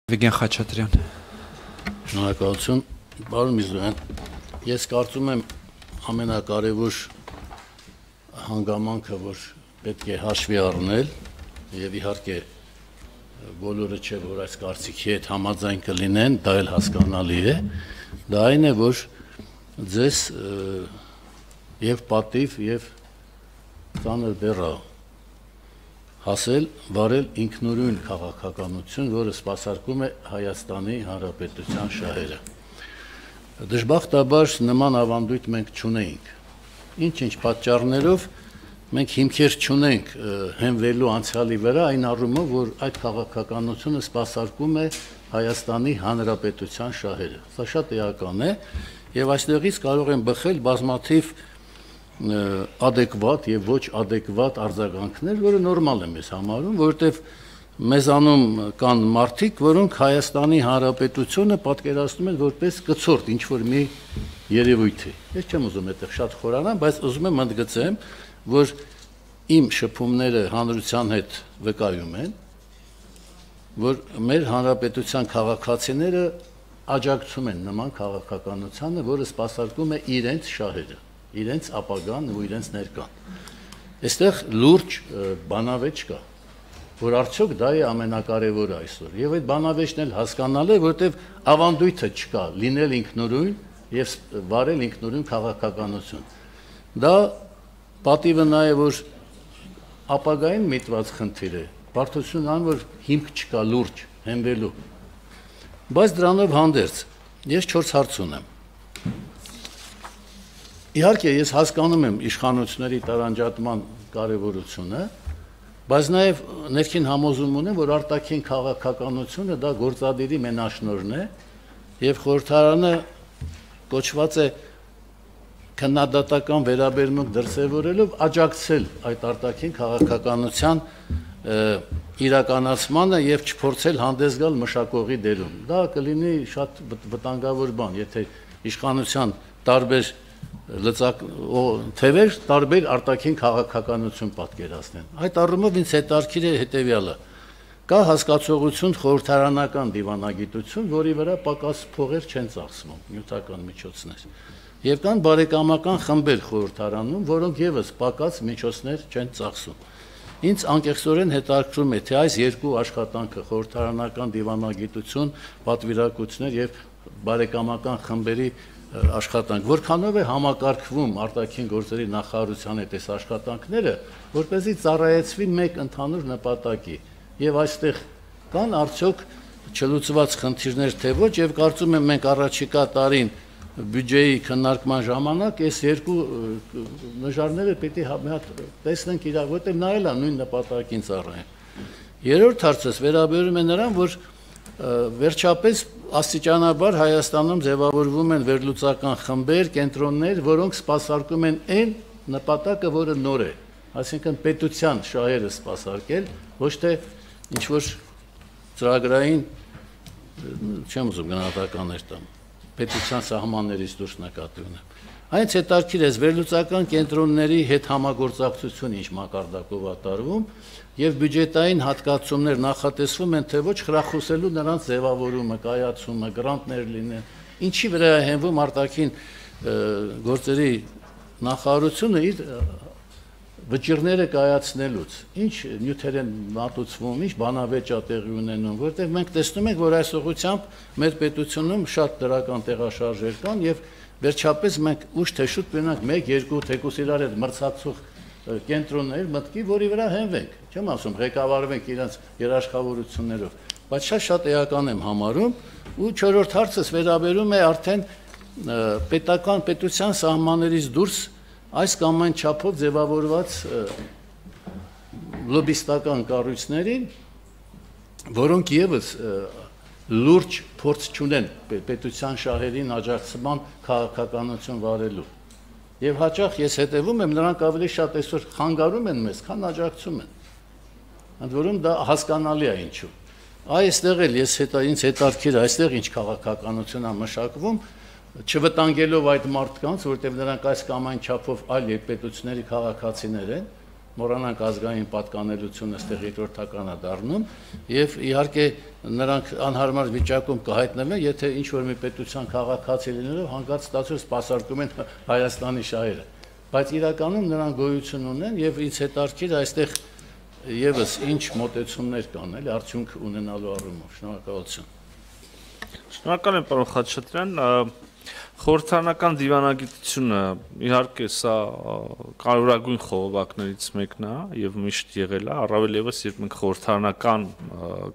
Վիգեն Խաչատրյան։ Շնորհակալություն, պարոն Միրզոյան, ես կարծում եմ ամենակարևոր հանգամանքը, որ պետք է հաշվի առնել, եւ իհարկե բոլորը չէ, որ այս կարծիքի հետ համաձայն կլինեն, դա էլ հասկանալի է, դա այն է, որ ձեզ եւ պատիվ եւ ծանր բեռա հասել վարել ինքնուրույն քաղաքականություն, որը սպասարկում է Հայաստանի Հանրապետության շահերը։ Դժբախտաբար նման ավանդույթ մենք չունեինք։ Ինչ-ինչ պատճառներով մենք հիմքեր չունենք հենվելու անցյալի վրա այն առումով, որ այդ քաղաքականությունը սպասարկում է Հայաստանի Հանրապետության շահերը։ Սա շատ էական է, եւ այստեղից կարող են բխել բազմաթիվ adekvat եւ ոչ adekvat արձագանքներ, որը նորմալ է մեզ համարում, որովհետեւ մեզանում կան մարդիկ, որոնք Հայաստանի Հանրապետությունը պատկերացնում են որպես կցորդ, ինչ որ մի երևույթ է։ Ես չեմ ուզում այդտեղ շատ խորանալ, բայց ուզում եմ ընդգծեմ, որ իմ շփումները հանրության հետ վկայում են, որ մեր հանրապետության քաղաքացիները աջակցում են նման քաղաքականությանը, որը սպասարկում է իրենց շահերը, իրենց ապագան ու իրենց ներկան։ Այստեղ լուրջ բանավեճ կա, որ արդյոք դա է ամենակարևորը այսօր։ Եվ այդ բանավեճն էլ հասկանալ է, որտեղ ավանդույթը չկա լինել ինքնուրույն եւ վարել ինքնուրույն քաղաքականություն։ Դա պատիվը նա է, որ ապագային միտված խնդիր է, բարդություն ան, որ հիմք չկա լուրջ հենվելու։ Բայց դրանով հանդերձ ես 4 հարց ունեմ։ Իհարկե ես հասկանում եմ իշխանությունների տարանջատման կարևորությունը, բայց նաև ներքին համոզում ունեմ, որ արտաքին քաղաքականությունը դա գործադիրի մենաշնորհն է եւ խորհրդարանը կոչված է քննադատական վերաբերմունք դրսևորելով աջակցել այդ արտաքին քաղաքականության իրականացմանը եւ չփորձել հանդես գալ մշակողի դերում։ Դա կլինի շատ վտանգավոր բան, եթե իշխանության տարբեր լծակ թևեր տարբեր արտաքին քաղաքականություն պատկերացնեն։ Այդ առումով ինձ հետաքրքիր է հետեւյալը. կա հասկացողություն խորհրդարանական դիվանագիտություն, որի վրա պակաս փողեր չեն ծախսվում, նյութական միջոցներ։ Եվ կան բարեկամական խմբեր խորհրդարանում, որոնք եւս պակաս միջոցներ չեն ծախսում։ Ինձ անկեղծորեն հետաքրքրում է, թե այս երկու աշխատանքը խորհրդարանական դիվանագիտություն, պատվիրակություններ եւ բարեկամական խմբերի աշխատանք, որքանով է համակարգվում արտաքին գործերի նախարարության հետ այս աշխատանքները, որպեսզի ծառայեցվի մեկ ընդհանուր նպատակի։ Եվ այստեղ կան արդյոք չլուծված խնդիրներ, թե ոչ, եւ կարծում եմ մենք առաջիկա տարին բյուջեի քննարկման ժամանակ այս երկու նժարները պետք է մի հատ տեսնենք իրար, որտեղ նա էլ է նույն նպատակին ծառայեն։ Երրորդ հարցս վերաբերում է նրան, որ վերջապես աստիճանաբար Հայաստանում ձևավորվում են վերլուծական խմբեր, կենտրոններ, որոնք սպասարկում են այն նպատակը, որը նոր է, այսինքն պետության շահերը սպասարկել, ոչ թե ինչ որ ծրագրային, չեմ ուզում գնահատականներ տամ, պետության սահմաններից դուրս նկատի ունեմ։ Այնց հետաքրքիր է վերլուծական կենտրոնների հետ համագործակցություն ինչ մակարդակով ատարվում եւ բյուջետային հատկացումներ նախատեսվում են, թե ոչ խրախուսելու նրանց ձևավորումը, կայացումը, գրանտներ լինեն, ինչի վրա է հենվում արտաքին գործերի նախարարությունը իր վճիռները կայացնելուց, ինչ նյութեր են մատուցվում, ինչ բանավեճ է տեղի ունենում, որտեղ մենք տեսնում ենք, որ այս ուղղությամբ մեր պետությունում շատ դրական տեղաշարժեր կան եւ վերջապես մենք ուշ թե շուտ կունենանք 1-2 թեկուս իրար հետ մրցակցող կենտրոններ մտքի, որի վրա հենվենք, չեմ ասում ղեկավարվենք իրենց երաշխավորություններով, բայց շատ էական եմ համարում, ու 4-րդ հարցս վերաբերում է արդեն պետության սահմաններից դուրս այս կամ այն չափով ձևավորված լոբիստական կառույցներին, որոնք եւս լուրջ փորձ չունեն պետության շահերին աջակցման քաղաքականություն վարելու։ Եվ հաճախ ես հետևում եմ, նրանք ավելի շատ այսօր խանգարում են մեզ, քան աջակցում են։ Ընդ որում դա հասկանալի է ինչու։ Այստեղ էլ ինձ հետաքրքիր է, այստեղ ինչ քաղաքականություն է մշակվում, չվտանգելով այդ մարդկանց, որտեղ նրանք այս կամ այն չափով այլ պետությունների քաղաքացիներ են, մոռանանք ազգային պատկանելությունը այստեղ երկրորդականը դառնում եւ իհարկե նրանք անհարմար վիճակում կհայտնվեն, եթե ինչ որ մի պետության քաղաքացի լինելով հանկարծ ստացվում սպասարկում են Հայաստանի շահերը, բայց իրականում նրանք գոյություն ունեն եւ ինձ հետաքրքիր այստեղ եւս ինչ մոտեցումներ կան, էլի արդյունք ունենալու առումով։ Շնորհակալություն։ Շնորհակալ եմ, պարոն Խաչատրյան։ Խորհրդարանական դիվանագիտությունը իհարկե սա կարևորագույն խողովակներից մեկն է եւ միշտ եղել է, առավել եւս երբ մենք խորհրդարանական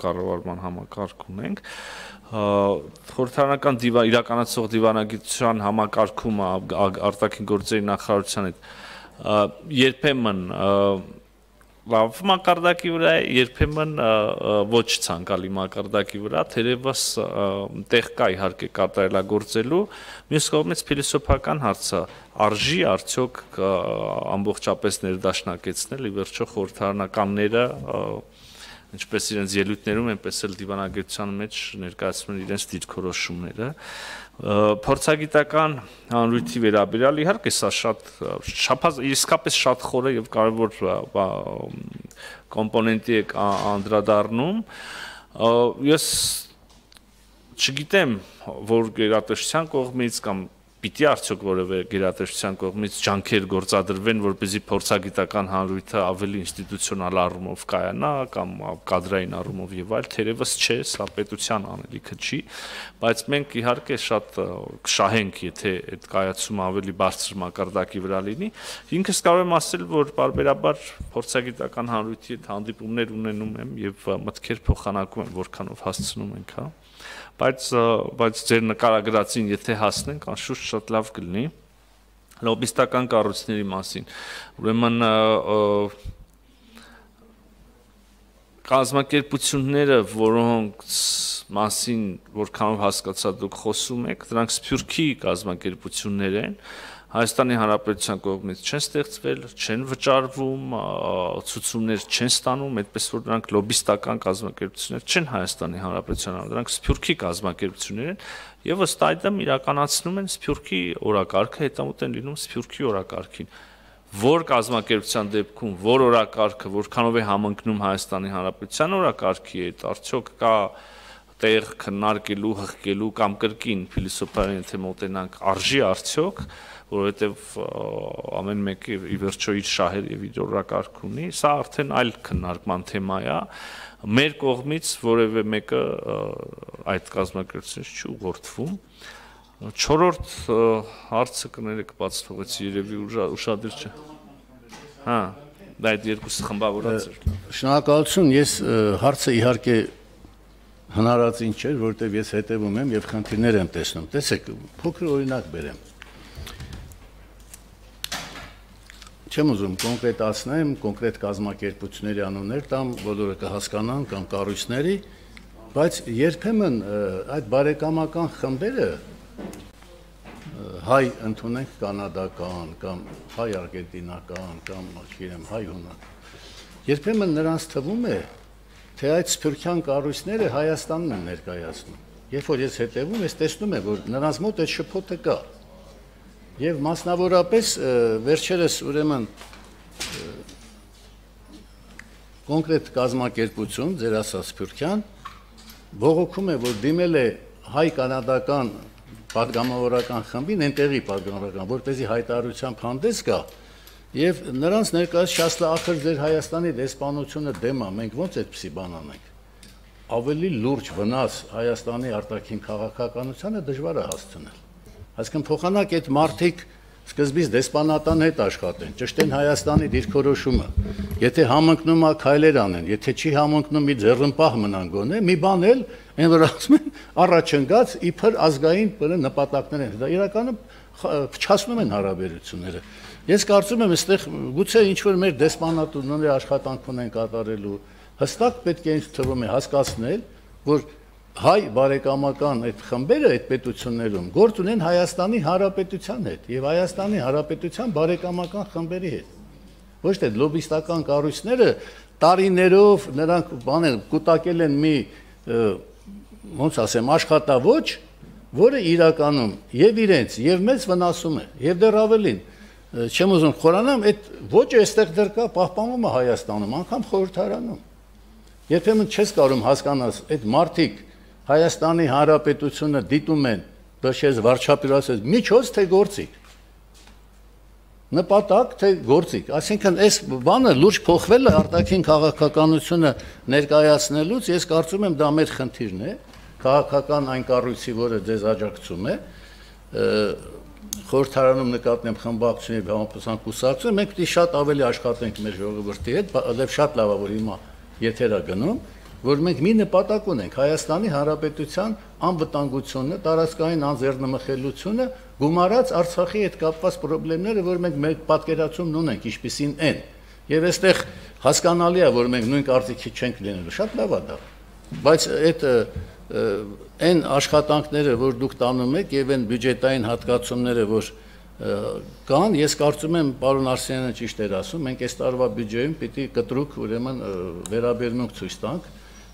կառավարման համակարգ ունենք, խորհրդարանական իրականացող դիվանագիտության համակարգումը արտաքին գործերի նախարարության հետ երբեմն լավ մակարդակի վրա է, երբեմն ոչ ցանկալի մակարդակի վրա, թերևս տեղ կա իհարկե կատարելագործելու, մյուս կողմից փիլիսոփական հարցը արժի արդյոք ամբողջապես ներդաշնակեցնել, ի վերջո խորհրդարանականները ինչպես իրենց ելույթներում, այնպես էլ դիվանագիտության մեջ ներկայացնում են իրենց դիրքորոշումները։ Փորձագիտական հանրույթի վերաբերյալ իհարկե սա իսկապես շատ խորը եւ կարեւոր կոմպոնենտի է անդրադառնում։ Ես չգիտեմ, որ գերատեսչության կողմից կամ պիտի արդյոք որևէ գերատեսչության կողմից ջանքեր գործադրվեն, որպեսզի փորձագիտական հանրույթը ավելի ինստիտուցիոնալ առումով կայանա կամ կադրային առումով եւ այլ, թերևս չէ, սա պետության անելիքը չի, բայց մենք իհարկե շատ կշահենք, եթե այդ կայացումը ավելի բարձր մակարդակի վրա լինի։ Ինքս կարող եմ ասել, որ բարբերաբար փորձագիտական հանրույթի հետ հանդիպումներ ունենում եմ եւ մտքեր փոխանակում եմ, որքանով հասցնում ենք, հա։ Բայց ձեր նկարագրածին եթե հասնենք, անշուշտ շատ լավ կլինի լոբիստական կառույցների մասին։ Ուրեմն կազմակերպությունները, որոնց մասին որքանով հասկացա դուք խոսում եք, դրանք սփյուռքի կազմակերպություններ են, Հայաստանի Հանրապետության կողմից չեն ստեղծվել, չեն վճարվում, ցուցումներ չեն ստանում, այդպես որ դրանք լոբիստական կազմակերպություններ չեն Հայաստանի Հանրապետության, դրանք սփյուռքի կազմակերպություններ են եւ ըստ այդմ իրականացնում են սփյուռքի օրակարգը, հետամուտ են լինում սփյուռքի օրակարգին։ Որ կազմակերպության դեպքում որ օրակարգը որքանով է համընկնում Հայաստանի Հանրապետության օրակարգի հետ, արդյոք կա տեղ քննարկելու, հղկելու կամ կրկին փիլիսոփայորեն եթե մոտենանք արժի արդյոք, որովհետև ամեն մեկը ի վերջո իր շահեր եւ իր օրակարգ ունի, սա արդեն այլ քննարկման թեմա է, մեր կողմից որևէ մեկը այդ կազմակերպությունից չի ուղղորդվում։ Չորրորդ հարցը կներեք բաց թողեցի, երևի ուշադիր չէ։ Հա, դա այդ երկուսը խմբավորած էր։ Շնորհակալություն, ես հարցը իհարկե հնարածին չէր, որովհետև ես հետևում եմ եւ խնդիրներ եմ տեսնում։ Տեսեք, փոքր օրինակ բերեմ։ Չեմ ուզում կոնկրետացնեմ, կոնկրետ կազմակերպությունների անուններ տամ, բոլորը կհասկանան կամ կառույցների, բայց երբեմն այդ բարեկամական խմբերը հայ ընդունենք կանադական կամ հայ արգենտինական կամ չգիտեմ հայ հունակ։ Երբեմն նրանց թվում է, թե այդ սփյուռքյան կառույցները Հայաստանն են ներկայացնում։ Երբ որ ես հետևում, ես տեսնում եմ, որ նրանց մոտ այդ շփոթը կա։ Եվ մասնավորապես վերջերս ուրեմն կոնկրետ կազմակերպություն, ձեր ասած սփյուռքյան, բողոքում է, որ դիմել է հայ-կանադական պատգամավորական խմբին, այնտեղի պատգամավորական, որպեսզի հայտարարությամբ հանդես գա, եւ նրանց ներկայացրած շասլա ախր ձեր Հայաստանի դեսպանությունը դեմ է, մենք ո՞նց այդպիսի բան անենք։ Ավելի լուրջ վնաս Հայաստանի արտաքին քաղաքականությանը դժվար է հասցնել։ Այսինքն փոխանակ այդ մարդիկ սկզբից դեսպանատան հետ աշխատեն, ճշտեն Հայաստանի դիրքորոշումը։ Եթե համընկնում է քայլեր անեն, եթե չի համընկնում մի ձեռնպահ մնան գոնե, մի բան էլ այն որ ասում են առաջընկած իբր ազգային նպատակներ են։ Դա իրականում փչացնում են հարաբերությունները։ Ես կարծում եմ, այստեղ գուցե ինչ-որ մեր դեսպանատունների աշխատանք ունեն կատարելու, հստակ պետք է ինձ թվում է հասկացնել, որ հայ բարեկամական այդ խմբերը այդ պետություններում գործ ունեն Հայաստանի Հանրապետության հետ եւ Հայաստանի Հանրապետության բարեկամական խմբերի հետ։ Ոչ թե լոբիստական կառույցները տարիներով նրանք բաներ կուտակել են մի ոնց ասեմ աշխատավոճ, որը իրականում եւ իրենց եւ մեծ վնասում է եւ դեռ ավելին չեմ ուզում խորանամ, այդ ոճը այստեղ դեռ կա, պահպանվում է Հայաստանում, անգամ խորհրդարանում։ Երբեմն չես կարող հասկանալ, այդ մարդիկ Հայաստանի Հանրապետությունը դիտում են, դաշես վարչապետարացած միջոց թե գործիք։ Նպատակ թե գործիք, այսինքն այս բանը լուրջ փոխվել է արտաքին քաղաքականությունը ներկայացնելուց, ես կարծում եմ դա մեր խնդիրն է, քաղաքական այն կառույցի, որը ձեզ աջակցում է, խորհրդարանում նկատնեմ խմբակցություն եւ համապատասխան կուսակցություն, մենք պիտի շատ ավելի աշխատենք մեր ժողովրդի հետ, եւ շատ լավ է որ հիմա եթերա գնում, որ մենք մի նպատակ ունենք Հայաստանի Հանրապետության անվտանգությունը, տարածքային անձեռնմխելիությունը, գումարած Արցախի հետ կապված խնդիրները, որ մենք մեր պատկերացումն ունենք, ինչպիսին են։ Եվ այստեղ հասկանալի է, որ մենք նույն կարծիքի չենք լինելու, շատ լավ է դա։ Բայց այդ այն աշխատանքները, որ դուք տանում եք, եւ այն բյուջետային հատկացումները, որ կան, ես կարծում եմ, պարոն Արսենյանը ճիշտ էր ասում, մենք այս տարվա բյուջեում պիտի կտրուկ ուրեմն վերաբերմունք ցույց տանք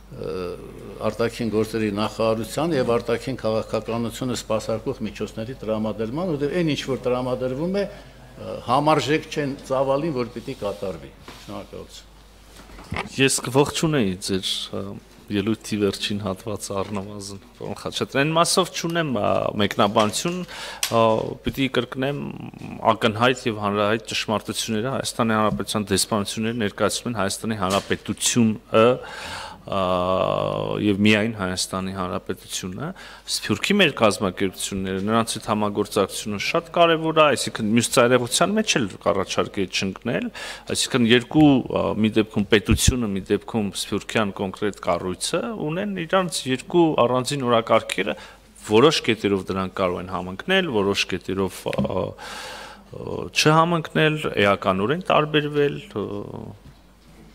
արտաքին գործերի նախարարության եւ արտաքին քաղաքականությունը սպասարկող միջոցների տրամադրման, որտեղ այն ինչ որ տրամադրվում է, համարժեք չեն ծավալին, որ պիտի կատարվի։ Շնորհակալություն։ Ես կողջունեի ձեր ելույթի վերջին հատվածը առնվազն, պարոն Խաչատրյան, այն մասով չունեմ մեկնաբանություն, պիտի կրկնեմ ակնհայտ եւ հանրահայտ ճշմարտությունները Հայաստանի Հանրապետության դեսպանությունները ներկայացնում են Հայաստանի Հանրապետությունը եւ միայն Հայաստանի Հանրապետությունը, Սփյուռքի մեր կազմակերպությունները, նրանց հետ համագործակցությունը շատ կարեւոր է, այսինքն մյուս ծայրեղության մեջ էլ կառաջարկի չընկնել, այսինքն երկու մի դեպքում պետությունը, մի դեպքում Սփյուռքյան կոնկրետ կառույցը ունեն իրանց երկու առանձին օրակարգերը, որոշ կետերով դրանք կարող են համընկնել, որոշ կետերով չհամընկնել, էականորեն տարբերվել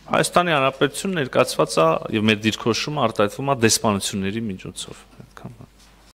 Հայաստանի Հանրապետությունը ներկայացված է եւ մեր դիրքորոշումը արտահայտվում է դեսպանությունների միջոցով։ Այդքան